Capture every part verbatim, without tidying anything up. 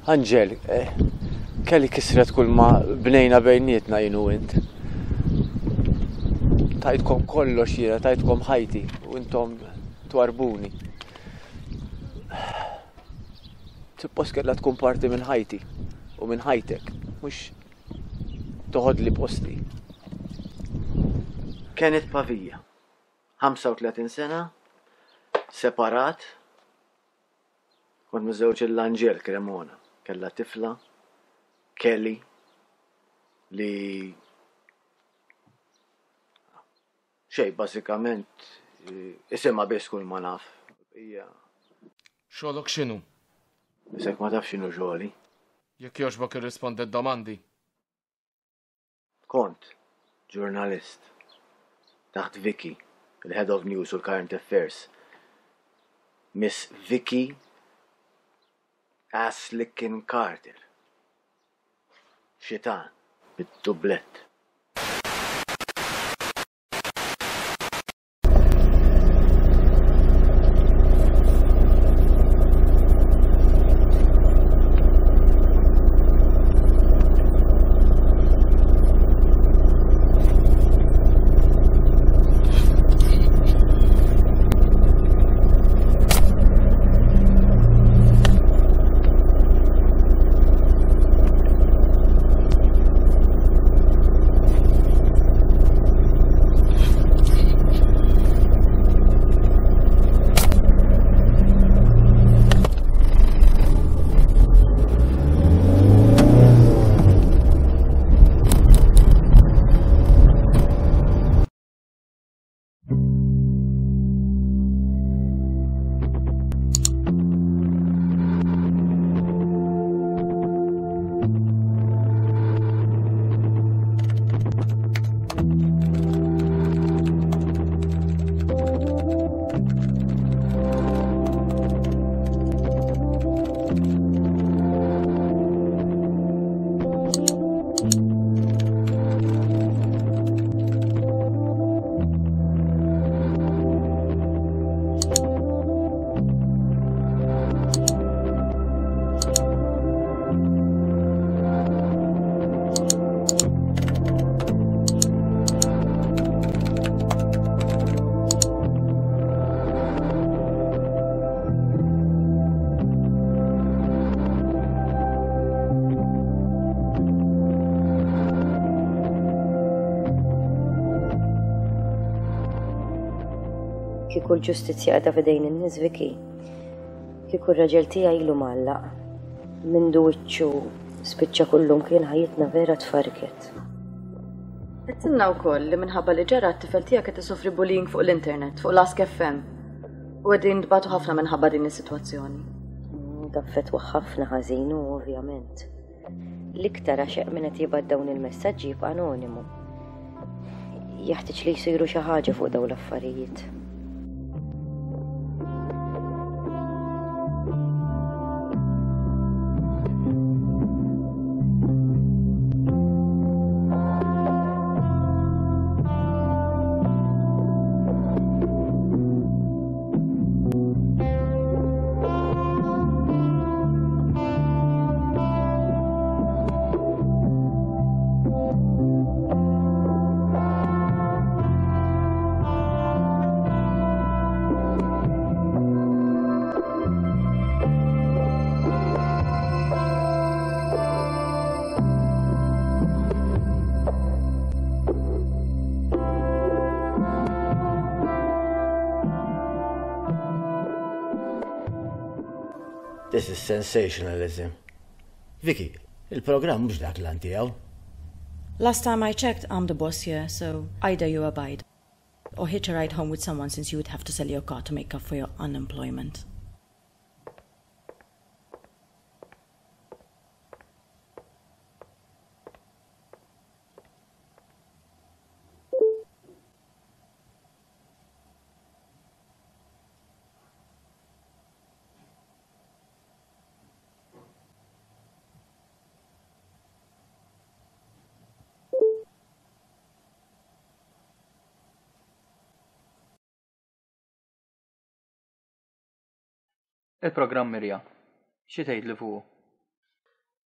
Angel, eh, Kelly kisret kull ma bnejna bejnietna jien u int. Tajtkom kollox jiena, tajtkom ħajti u intom twarbuni. Suppost kellha tkun parti minn ħajti u minn ħajtek, mhux toħodli posti. Kenneth Pavia, ħamsa u tletin sena, separat, kont miżżewweġ lil Angel Cremona, kella tifla, Kelly, li xej, bażikament isimha biss kull ma naf. Hija Xogħlok x'inhu? Isek ma tafx x'inhu xogħli. Jekk jogħġbok irrispondi d-domandi. Kont ġurnalist taħt Vicky, il-Head of News u l-Current Affairs. Miss Vicky Aslickin Carter. Xitan, bit-dublett. Kieku l-ġustizzja qiegħda f'idejn in-nies, Vicky. Kieku r-raġel tiegħi ilu mgħallaq. Mindu wiċċu spiċċa kullum kien, ħajjitna vera tfarket. Għedtilna wkoll li minħabba li ġara t-tifel tiegħek qed isofri bullying fuq l-internet, fuq l-Ask F M. U qegħdin tbatu ħafna minħabba din is-sitwazzjoni. Taffettwa ħafna ħażin u ovvjament. L-iktar għax min qed jibgħat dawn il-messaġġi jibqa' anonimu. Jeħtieġ li jsiru xi ħaġa fuq dawn l-affarijiet. This is sensationalism. Vicky, il-programm mhux dak l tiegħu. Last time I checked, I'm the boss here, so either you abide or hitch a ride home with someone, since you would have to sell your car to make up for your unemployment. Il-programm Mirja, xi tgħidli fuqu?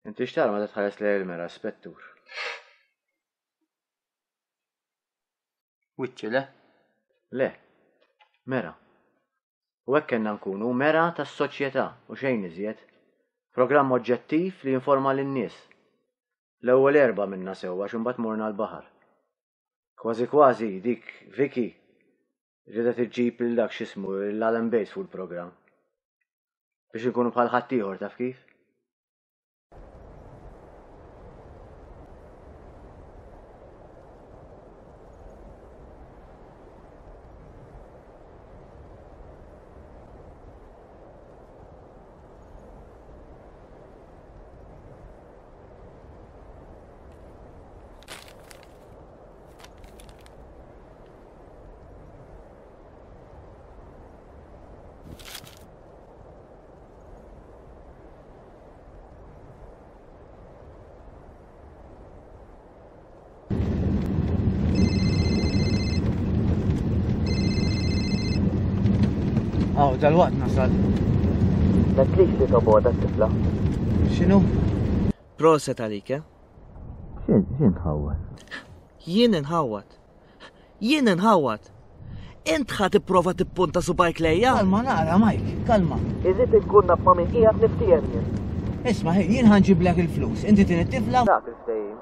Inti x'tara meta tħares lejn il-mera, Spettur? Wiċċi le? Le. Mera. U hekk kellna nkunu mera tas-soċjetà u xejn iżjed. Programm oġġettiv li jinforma lin-nies. L-ewwel erba' minna sewwa għax imbagħad morna l-baħar. Kważi kważi dik Vicky ridet iġġib lil dak x'ismu l-Alan Bates fuq il-programm. Biex inkunu bħal ħaddieħor taf kif? Aw, dal-waqt nasal. Datlix li toboda t-tifla. X'inhu? Proset għalik, eh? X'in, x'in tħawwad? Jien inħawwad. Jien inħawwad. Int ħa tipprova tippunta subajk lejja? Kalma nara, Mike, kalma. Irrid inkun naf ma' min qiegħed niftiehem jien. Isma' ħin, jien ħanġiblek il-flus. Inti tin it-tifla? Dak il-ftehim.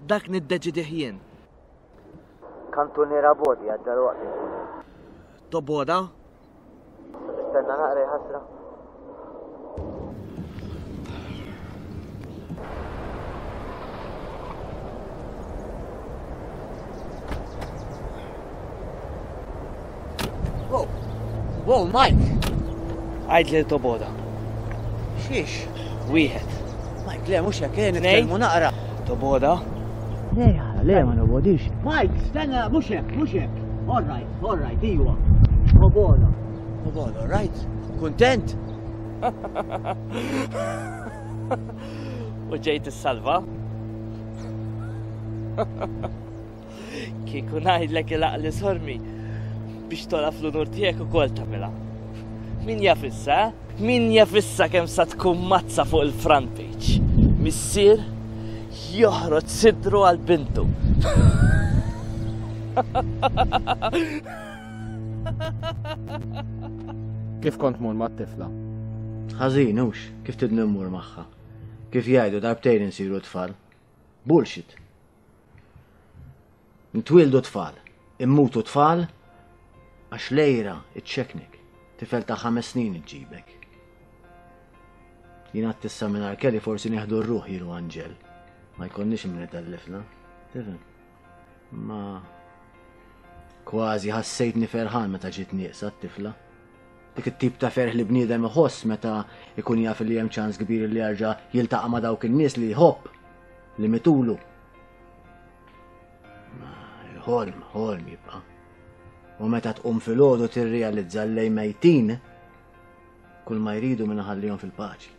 Dak niddeċidih jien. Kantuniera bodi għad dal-waqt inkun. Toboda? Tistenna naqra ħasra. Wow, wow, Mike! Għajd li toboda. Xiex? Wieħed. Mike, le, mhux hekk, eh, nitkellmu naqra. Toboda? Le, le, ma nobodix. Mike, stenna, mhux hekk, mhux hekk. All right, all right, iwa. Toboda. Toboda, all right? Kuntent? U ġejt is-salva? Kieku ngħidlek il-aqli sormi biex tola fl-unur tiegħek ukoll tagħmilha. Min jaf issa, eh? Min jaf issa kemm sa tkun mazza fuq il-front page. Missier joħroġ sidru għal bintu. Kif kont mur mat-tifla? Ħażin hux, kif tidni mmur magħha. Kif jgħidu darbtejn insiru tfal. Bullshit. Ntwildu tfal, immutu tfal, għax lejra iċċeknik, tifel ta' ħames snin iġġibek. Jien għad tissa minn Kelly forsi nieħdu r-ruħ jien u Anġel. Ma jkollniex min itellifna, tifhem? Ma kważi ħassejtni ferħan meta ġiet nieqsa t-tifla. Dik it-tip ta' ferħ li bniedem iħoss meta ikun jaf li hemm ċans kbir li jerġa' jiltaqa' ma' dawk in-nies li jħobb, li mitulu. Ma il-ħolm, ħolm jibqa'. U meta tqum filgħodu tirrealizza li mejtin kull ma jridu minn ħallihom fil-paċi.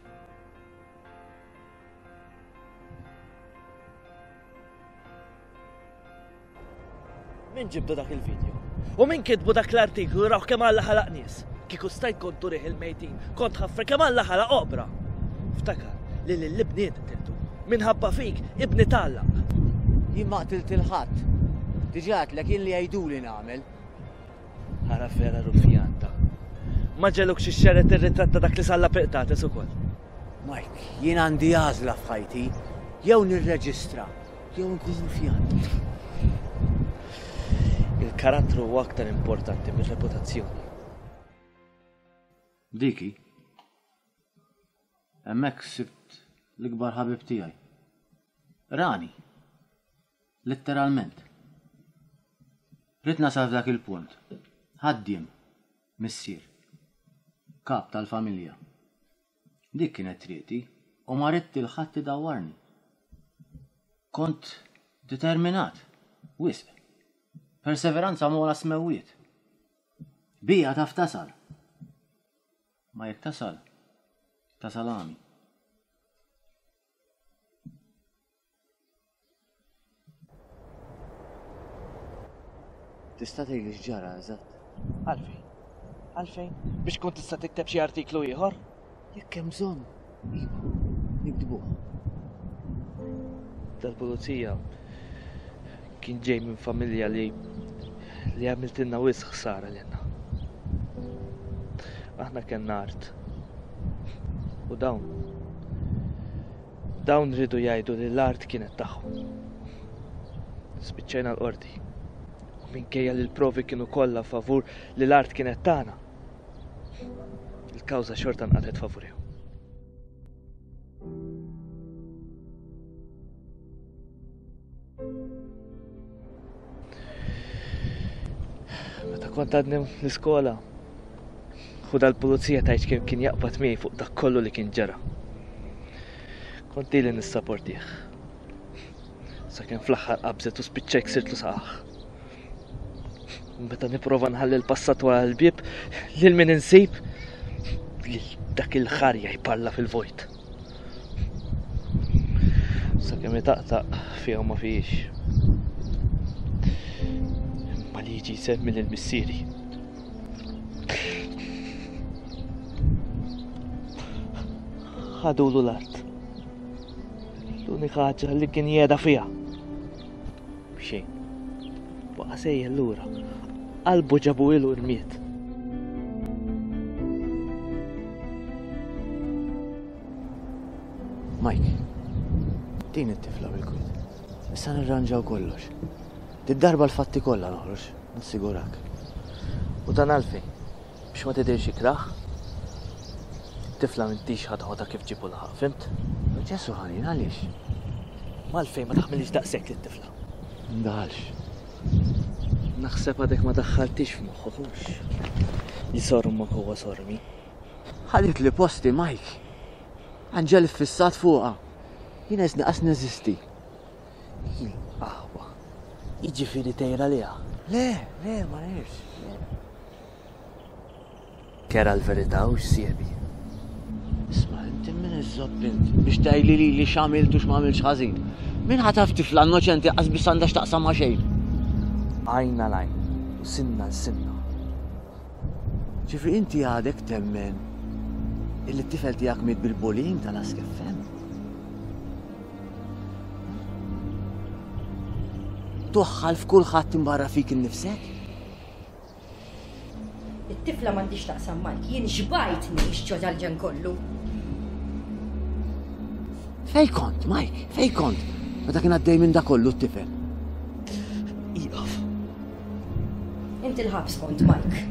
Min ġibdu dak il-video? U min kitbu dak l-artiklu raw kemm Alla ħalaq nies? Kieku stajt kont turih il-mejtin, kont ħaffre kemm Alla ħalaq oqbra. Ftakar li lill-ibniet qtiltu. Minħabba fik, ibni t'Alla. Jien ma qtilt il-ħadd. Diġà għedtlek jien li jgħiduli nagħmel. Ara vera rufjanta. Ma ġelukx ixxeret ir-ritratt ta' dak li salla piqtates ukoll. Mike, jien għandi għażla f'ħajti. Jew nirreġistra, jew nkun rufjant. Il-karattru huwa aktar importanti mir-reputazzjoni. Diki, hemmhekk sibt l-ikbar ħabib tiegħi. Rani. Letteralment. Rid nasal f'dak il-punt. Ħaddiem, missier, kap tal-familja. Dik kienet triqti u ma ridt il ħadd idawwarni. Kont determinat, wisq. Perseveranza mola smewwiet. Bija taf tasal. Ma jekk tasal, tasal għami. Tista' tgħidli x'ġara eżatt? Għalfejn? Għalfejn? Biex kont tista' tikteb xi artiklu ieħor? Jekk hemm bżonn, iva, niktbuh. Dal-pulizija kien ġej minn familja li li għamiltilna wisq ħsara lilna. Aħna kellna art. U dawn dawn ridu jgħidu li l-art kienet tagħhom. Spiċċajna l-qorti. U minkejja li l-provi kienu kollha favur li l-art kienet tagħna, il-kawża xorta nqatgħet favurihom. Meta kont għadni l-iskola, hu dal-pulizija tgħid kemm kien jaqbad miegħi fuq dak kollu li kien ġara. Kont ili nissaportih. Sakemm fl-aħħar qabżet u spiċċajt ksirtlu saqah. Meta nipprova nħalli l-passat wara l-bieb, lil min insib, lil dak il-ħarja jparla fil-vojt. Sakemm itaqtaq fiha u ma fihiex. Imma li jiġi jsemmi lil missieri. Ħadulu l-art. L-unika ħaġa li kien jeda fiha. Xejn. Baqa' sejjer lura. Qalbu ġabu ilu rmiet. Mike, din it-tifla bil-kwiet. Issa nirranġaw kollox. Did-darba l-fatti kollha noħroġ, nassigurak. U dan għalfejn? Biex ma tidhirx ikrah? Tifla m'intix ħa toħodha kif ġibu laħaq, fimt? Ġesu ħanin, għaliex? Malfejn ma taħmilix daqshekk lit-tifla. Ndaħalx. Naħseb għadek ma daħħaltix f'moħħok hux. Li sormok huwa sormi. Ħadet li posti, Mike. Anġel iffissat fuqha. Jiena qisni qas neżisti. Il-qahwa. Jiġifieri tgħir għaliha. Le, le, ma ngħirx. Kera l-verità u x'siebi. Isma', inti min iżobb int biex tgħidli li li x'għamilt u x'm'għamiltx ħażin. Min ħataf tifla innoċenti qas biss għandha x'taqsam ma' xejn. Għajn għal għajn u sinna l sinna. Ġifri inti għadek temmen illi t-tifel tiegħek miet bil-bullying tal-Ask F M. Toħħal f'kulħadd imbarra fik innifsek? It-tifla m'għandix taqsam Mike, jien xbajt ngħix ġo dal-ġen kollu. Fej kont, Mike, fej kont? Meta kien għaddej minn da kollu t-tifel. Iqaf. Inti l-ħabs kont, Mike.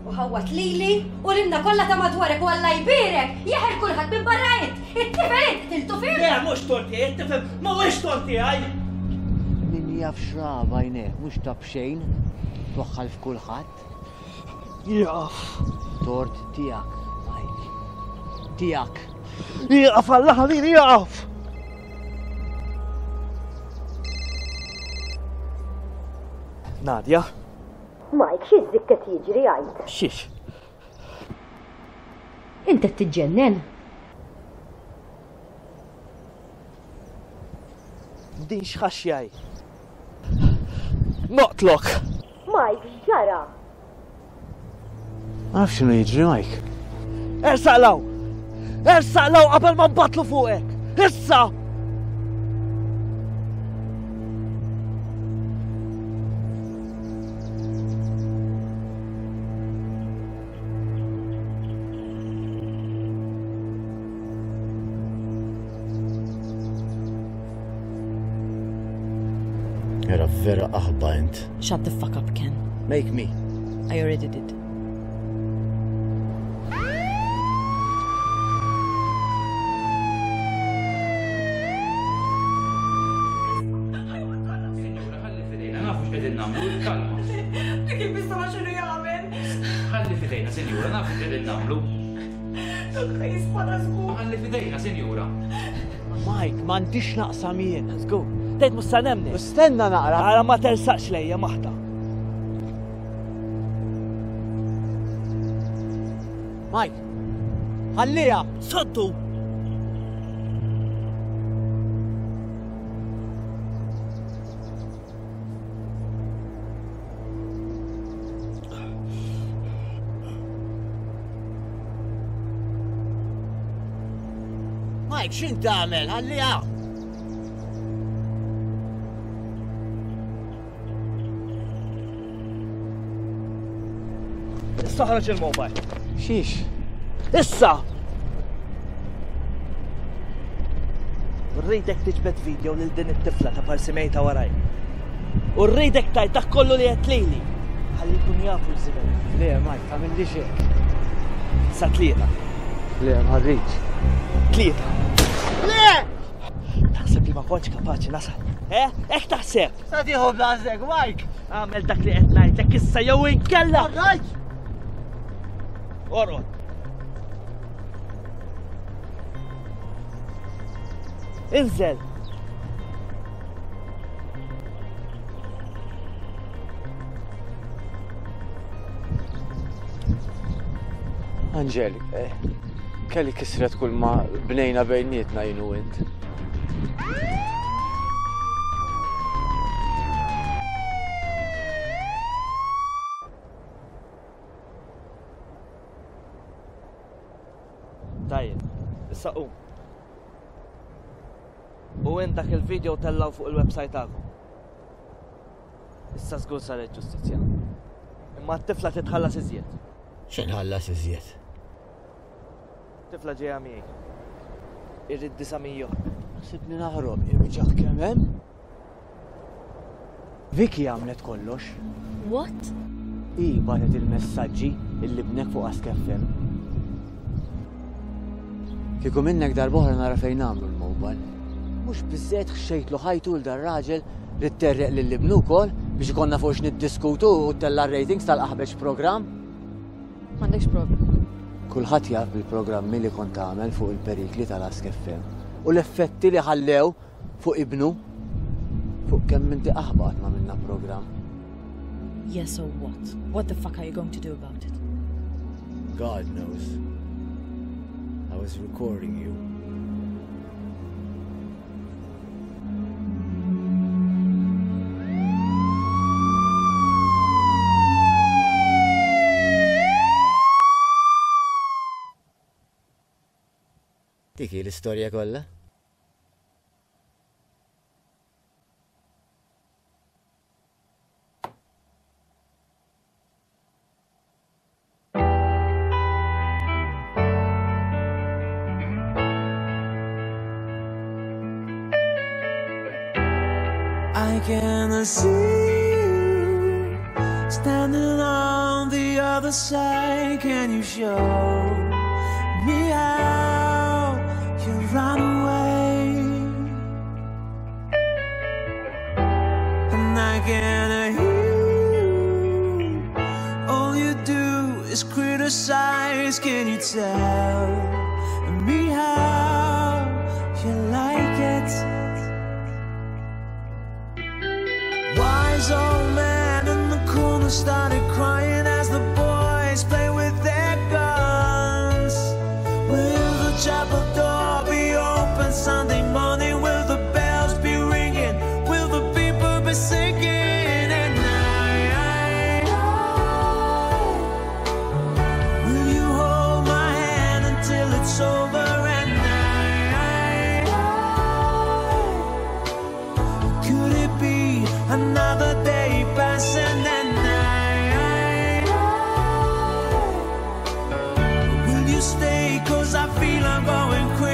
U ħawat lili u lilna kollha ta' madwarek u Alla jbierek, jeħel kulħadd minn barra int. It-tifel int qtiltu fih. Le, mhux tort tiegħi, it-tifel mhuwiex tort tiegħi. Min jaf xraba jnek, mhux ta' b'xejn, twaħħal f'kulħadd. Jaqaf. Tort tiegħek, Mike. Tiegħek. Jaqaf Alla ħalini jaqaf. Nadia? Mike, xi żikk qed jiġri għid? Xiex? Inti qed tiġġennen. Din x'ħaxjaj. Noqtlok. Mike, x'ġara? Ma nafx x'inhu jiġri, Mike. Ersaq law! Ersaq law qabel ma nbatlu fuqek! Issa! Era vera aħba int. Shut the fuck up, Ken. Make me. I already did. Ħalli fidejna, sinjura, nafu x'qegħdin nagħmlu. Ħalli fidejna, sinjura. Mike, m'għandix naqsam jien. Let's go. Tgħid mhux sa nemni. Stenna naqra. Ara ma tersaqx lejja maħta. Mike, ħalliha. Soddu. Mike, x'int tagħmel? Ħalliha. Issa ħroġ il-mobile. Xiex? Issa! Rridek tiġbed video lil din it-tifla ta' parsi mejta waraj. U rridek tajt dak kollu li qed lili. Ħalli jkun jafu l-żibel. Le, Mike, tagħmillix hekk. Sa tlieta. Le, ma rridx. Tlieta. Le! Taħseb li ma kontx kapaċi nasal. Eh? Hekk taħseb? Sa tieħu b'għażek, Mike! Għamel dak li qed ngħidlek issa jew inkella. All right! Orqod. Inżel! Angel, eh, kelli kisret kull ma bnejna bejnietna jien u int. Tajjeb, issa qum. U int dak il-video tellaw fuq il-website tagħkom. Issa żgur saret ġustizzja. Imma t-tifla titħallas iżjed. X'inħallas iżjed? Tifla ġejja miegħi. Irrid disa' mija. Sibni naħrob, irriġaħ kemm hemm. Vicky għamlet kollox. What? Hi bagħtet il-messaġġi illi bnek fuq Ask F M. Kieku minnek darb'oħra nara fejn nagħmlu l-mobile. Mhux biżżejjed ħxejtlu ħajtu l dar-raġel li tterreq lil ibnu wkoll biex ikollna fuq x'niddiskutu u ttella' ratings tal-qaħbeġ programm. M'għandekx provi. Kulħadd jaf bil-programmi li kont tagħmel fuq il-perikli tal-Ask F M u l-effetti li ħallew fuq ibnu fuq kemm inti qaħba qatt ma minna programm. Yes, so what? What the fuck are you going to do about it? God knows. I was recording you. Dik hi l-istorja kollha? I can see you standing on the other side. Can you show me how you run away? And I can hear you. All you do is criticize. Can you tell me how you like it? Wise old man in the corner started crying as the boys play with their guns. Will the chapel door be open Sunday morning? Will the bells be ringing? Will the people be singing? And I, I, I, will you hold my hand until it's over? And I, I, I, could it be another day passing? And I, I, will you stay? 'Cause I feel I'm going crazy.